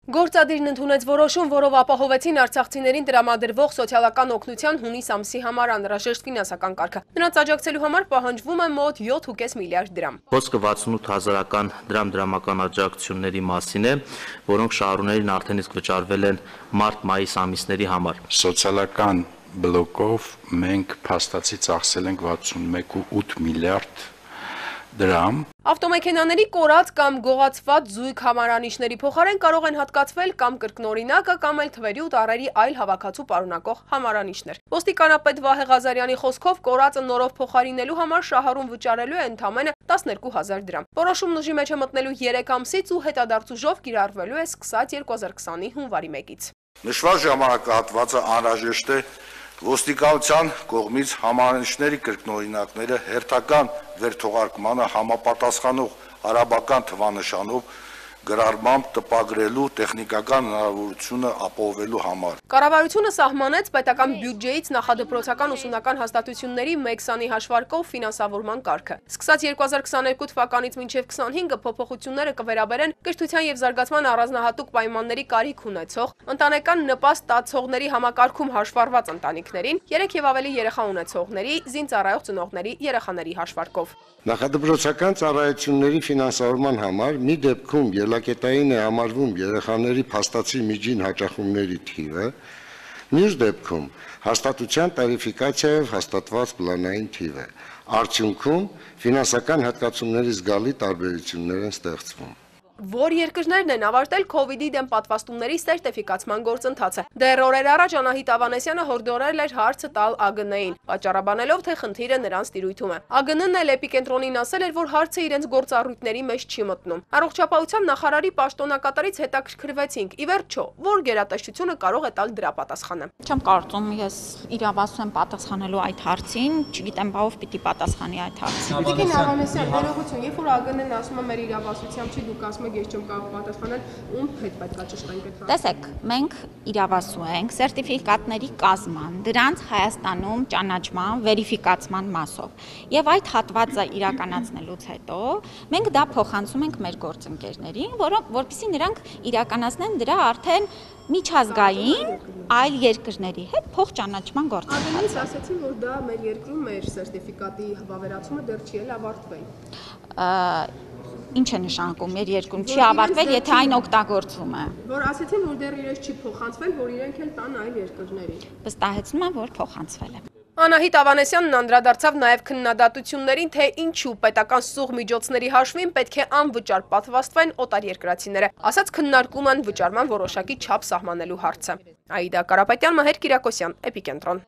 Գործադիրն ընդունեց որոշում, որով ապահովեցին արցախցիներին տրամադրվող սոցիալական օգնության հունիս ամսի համար անհրաժեշտ ֆինանսական կարգը։ Նրանց աջակցելու համար պահանջվում է մոտ 7.5 միլիարդ դրամ։ Խոսքը 68,000 դրամ դրամական աջակցությունների մասին է, որոնք շահառուներին արդեն իսկ վճարվել են մարտ-մայիս ամիսների համար։ Սոցիալական բլոկով մենք փաստացի ծախսել ենք 61.8 միլիարդ դրամ։ Ավտոմեքենաների կորած կամ գողացված զույգ համարանիշների փոխարեն կարող են հատկացվել կամ կրկնօրինակը կամ էլ թվերի ու տառերի այլ հավաքածու պարունակող համարանիշներ։ Ոստիկանապետ Վահե Ղազարյանի խոսքով կորածը նորով փոխարինելու համար շահառուն վճարելու է ընդամենը 12,000 դրամ։ Որոշումն ուժի մեջ է մտնելու 3 ամսից ու հետադարձուժով կիրառվելու է սկսած 2020-ի հունվարի 1-ից։ Նշված ժամանակահատվածը անհրաժեշտ է ոստիկանության կողմից համարանիշների կրկնօրինակները հերթական վերթողարկմանը համապատասխանող արաբական թվանշանով գրառմամբ տպագրելու տեխնիկական հնարավորությունը ապահովելու համար։ Կառավարությունը սահմանեց պետական բյուջեից նախադպրոցական ուսումնական հաստատությունների 1 քանի հաշվարկով ֆինանսավորման կարգը։ Սկսած 2022 թվականից մինչև 25-ը փոփոխությունները կվերաբերեն կրթության եւ զարգացման առանձնահատուկ պայմանների կարիք ունեցող, ընտանեկան նպաստ ստացողների համակարգում հաշվառված ընտանիքներին, 3 եւ ավելի երեխա ունեցողների, զինծառայող ծնողների երեխաների հաշվարկով։ Նախադպրոցական ծառայությունների ֆինանսավորման համար մի դեպքում ելակետային է համարվում երեխաների փաստացի միջին հաճախումների թիվը, մյուս դեպքում հաստատության տարիֆիկացիայով հաստատված պլանային թիվը։ Արդյունքում ֆինանսական հատկացումների զգալի տարբերություններ են ստեղծվում։ Որ երկրներն են ավարտել քովիդի դեմ պատվաստումների սերտիֆիկացման գործընթացը։ Դեռ օրեր առաջ Անահիտ Ավանեսյանը հորդորել էր հարցը տալ ԱԳՆ-ին, պատճառաբանելով, թե խնդիրը նրանց տիրույթում է։ ԱԳՆ-ն էլ Էպիկենտրոնին ասել էր, որ հարցը իրենց գործառույթների մեջ չի մտնում։ Առողջապահության նախարարի պաշտոնակատարից հետաքրքրվեցինք։ Ի վերջո, որ գերատեսչությունը կարող է տալ դրա պատասխանը։ Չեմ կարծում ես իրավասու եմ պատասխանելու այդ հարցին, չգիտեմ, բավ պիտի պատասխանի այդ հարցին։ Տիկին Ավանեսյան, ներողություն, երբ որ ԱԳՆ-ն ասում է մեր իրավասությամբ չի, դուք ասում եք ես չեմ կարող պատասխանել, ում հետ պետք է ճշտենք այդ հարցը։ Տեսեք, մենք իրավասու ենք սերտիֆիկատների կազման, դրանց Հայաստանում ճանաչման, վերիֆիկացման մասով։ Եվ այդ հատվածը իրականացնելուց հետո մենք դա փոխանցում ենք մեր գործընկերներին, որովհետեւ նրանք իրականացնեն դրա արդեն միջազգային այլ երկրների հետ փոխճանաչման գործընթաց։ Ադենից ասացին, որ դա մեր երկրում մեր սերտիֆիկատի վավերացումը դեռ չի էլ ավարտվել։ Ինչ է նշանակում մեր երկրում չի ավարտվել, եթե այն օգտագործվում է։ Որ ասեցին, որ դեռ իրենց չի փոխանցվել, որ իրենք էլ տան այլ երկրների։ Վստահեցնում եմ, որ փոխանցվել է։ Անահիտ Ավանեսյանն անդրադարձավ նաև քննադատություններին, թե ինչու պետական սուղ միջոցների հաշվին պետք է անվճար պատվաստվեն օտարերկրացիները, ասաց քննարկում են վճարման որոշակի չափ սահմանելու հարցը։ Աիդա Կարապետյան, Մհեր Կիրակոսյան, Էպիկենտրոն։